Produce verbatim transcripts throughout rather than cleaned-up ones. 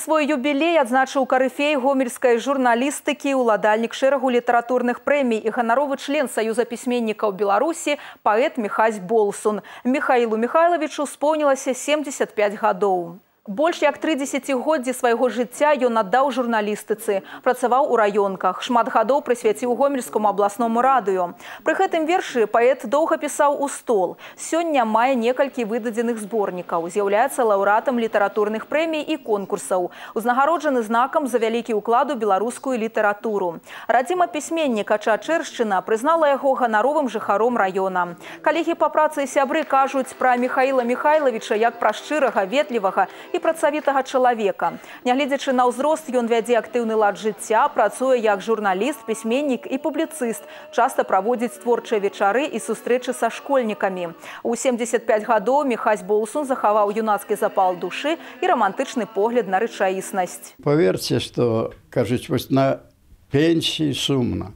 Свой юбілей адзначыў карыфей гомельскай журналістыкі, уладальнік шэрагу літаратурных прэмій і ганаровы член Саюза пісьменнікаў Беларусі, паэт Міхась Болсун. Міхаілу Міхайлавічу споўнілася семдзесят пяць гадоў. Больш як тры дзесяцігоддзі свайго жыцця ён аддаў журналістыцы, працаваў у раёнках, шмат гадоў прысвяціў гомельскому абласному радыё. Пры гэтым вершы паэт доўга пісаў у стол. Сёння мае некалькі выдадзеных зборнікаў, з'яўляецца лаўрэатам літаратурных прэмій і конкурсаў, узнагароджаны знакам за вялікі ўклад у беларускую літаратуру. Радзіма пісьменніка Чачэршчына прызнала яго ганаровым жыхаром раёна. Калегі па працы і сябры кажуць пра Міхаіла Міхайлавіча як пра шчырага, ветлівага і працавітага чалавека. Нягледзячы на ўзрост, ён вядзе актыўны лад жыцця, працуе як журналіст, пісьменнік і публіцыст, часта праводзіць творчыя вечары і сустрэчы са школьнікамі. У семдзесят пяць гадоў Міхась Болсун захаваў юнацкі запал душы і рамантычны погляд на рэчаіснасць. Паверце, што, кажуць, вось на пенсіі сумна.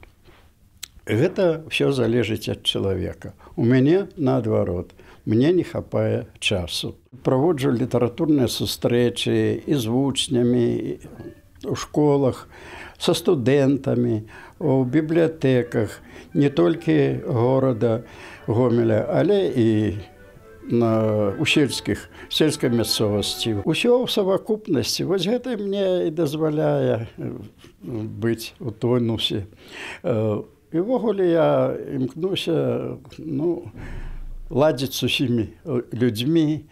Гэта ўсё залежыць ад чалавека. У мяне наадварот. Мне не хапае часу. Праводжу літаратурныя сустрэчы і з вучнямі, у школах, са студэнтамі, у бібліятэках, не толькі горада Гомеля, але і на, у сельскіх, сельскай мясцовасці. Усё ў савакупнасці. Вось гэта мне і дазваляе быць у тонусе. І ўвогуле я імкнуся, ну, ладзіць з усімі людзьмі,